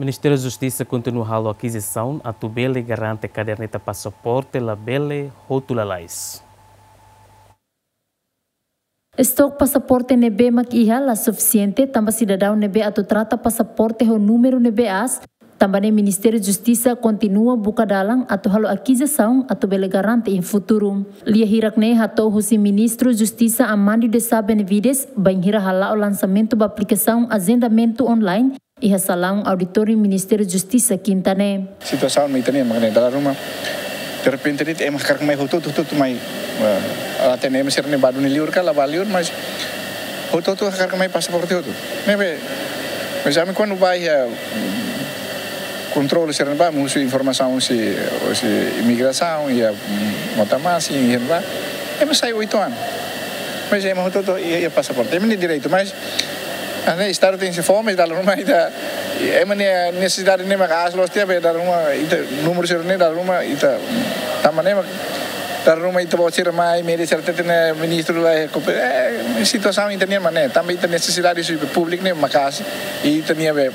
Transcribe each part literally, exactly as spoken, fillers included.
Ministériu Justisa kontinua halo akizisaun atu bele garante kaderneta pasaporte labele hotu lalais. Estok pasaporte ne'ebé mak iha la sufisiente tanba sidadaun ne'ebé atu trata pasaporte ho númeru ne'ebé aas, tanba ne'e Ministériu Justisa kontinua buka dalan atu halo akizisaun atu bele garante iha futuru. Lia hirak-ne'e hato'o husi Ministru Justisa Armando Desa Benavides, bainhira hala'o lansamentu ba aplikasaun ajendamentu online iha salaun auditóriu Ministériu Justisa Kinta ne'e. Situasaun mak ita-nian mak ne'e, dala ruma derrepente de'it ema hakarak mai hotu-hotu, hotu-hotu mai, eh, la hatene ema sira-ne'e bá duni liur ka la bá liur, mas hotu-hotu hakarak mai pasaporte hotu. Ne'ebé, mas ami kuandu bá iha, mm, kontrolu sira-ne'e bá, ami husu informasaun husi, husi imigrasaun, iha, mm, Mota Masin, iha ne'ebá, ema sai oito anos. Mas ema hotu-hotu iha, iha pasaporte. Ema-nia direitu, mas, ah, ne'e, Estadu tenke fó, mas dala ruma ita, ema-nia nesesidade ne'e mak aas loos tiha, be dala ruma ita, númeru sira-ne'e dala ruma ita, tanba ne'e mak dala ruma ita-boot sira mai, média sira hatete ne'e ministru la, eh, situasaun ita-nian mak ne'e, tanba ita nesesidade husi públiku ne'e maka'as, i ita-nia be,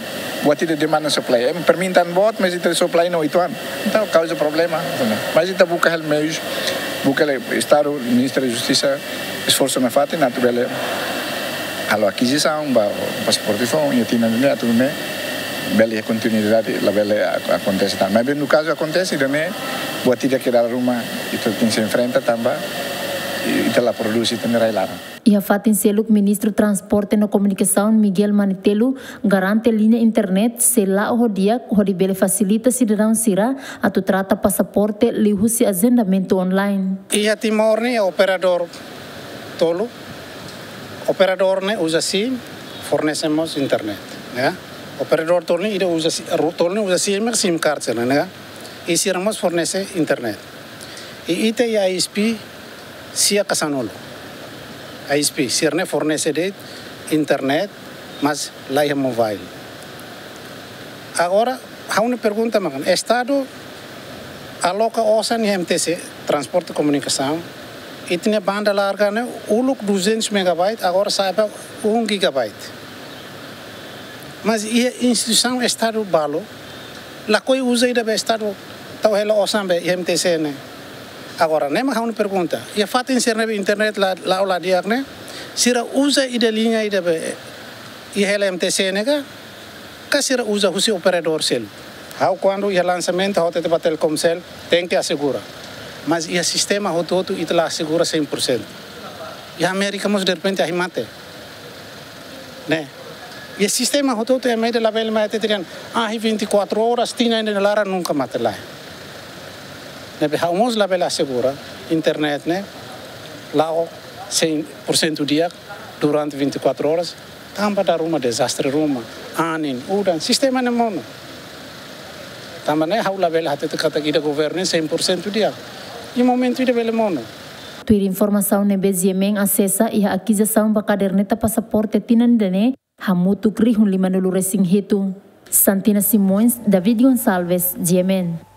buat ida demanda supply. Ema permintaan boot, mas ita supply ne'e oito anos. Entaun, kauza problema. Mas ita buka hela meius, buka hela Estadu, Ministériu Justisa, esforsu nafatin atu bele halo akizisaun ba pasaporte foun, i tina ne'e atu ne'e bele kontinuidade, labele ak-, akontese tan. Mas bem, no kazu akontese, ida-ne'e buat ida ke dala ruma ita tenke enfrenta tanba ita la prodús ita-nia rai-laran. Iha fatin seluk, Ministru Transporte no Komunikasaun Miguel Manetelu garante liña internet sei la'o ho di'ak hodi bele fasilita sidadaun sira atu trata pasaporte liuhusi ajendamentu online. Iha Timor ne'e operadór tolu, operadór ne'e uza SIM, fornese mós internet, ya. Operadór tolu ne'e ida uza si-, ru-, tolu ne'e uza SIM, SIM card sira-ne'e, ya. I sira mós fornese internet. I ita iha ISP sia ka sanulu. ISP, sira-ne'e fornese de'it internet, mas la iha mobile. Agora, ha'u-nia pergunta mak ne'e, Estadu aloka osan iha MTC, transporte komunikasaun, ita-nia banda larga ne'e uluk duzentos megabyte, agora sa'e ba um gigabyte. Mas iha instituisaun Estadu balu, lakohi uza ida be Estadu tau hela osan be iha MTC ne'e. Agora, ne'e mak ha'u-nia pergunta. Iha fatin sira-ne'ebé internet la, la'o la di'ak ne'e, sira uza ida liña ida be iha hela MTC ne'e ka, ka sira uza husi operadór seluk? Ha'u kuandu iha lansamentu, ha'u hatete ba Telkomcel, tenke asegura. Mas iha sistema hotu-hotu ita la asegura cem por cento. Iha Amérika mós derrepente ahi mate. Ne'e. Iha sistema hotu-hotu ema ida labele mai hatete dehan, ahi vinte e quatro horas, tinan ida nia laran nunka mate, lae. Ne'ebé ha'u mós labele asegura internet ne'e la'o cem por cento di'ak durante vinte e quatro horas, tanba dala ruma dezastre ruma, anin, udan, sistema ne'e monu. Tanba ne'e ha'u labele hatete katak ida governu ne'e cem por cento di'ak. Iha momentu ida bele monu. Tuir informasaun ne'ebé GMN asesa, iha akizisaun ba kaderneta pasaporte tinan ida-ne'e hamutuk rihun lima-nulu resin hitu. Santina Simões, David Gonçalves, GMN.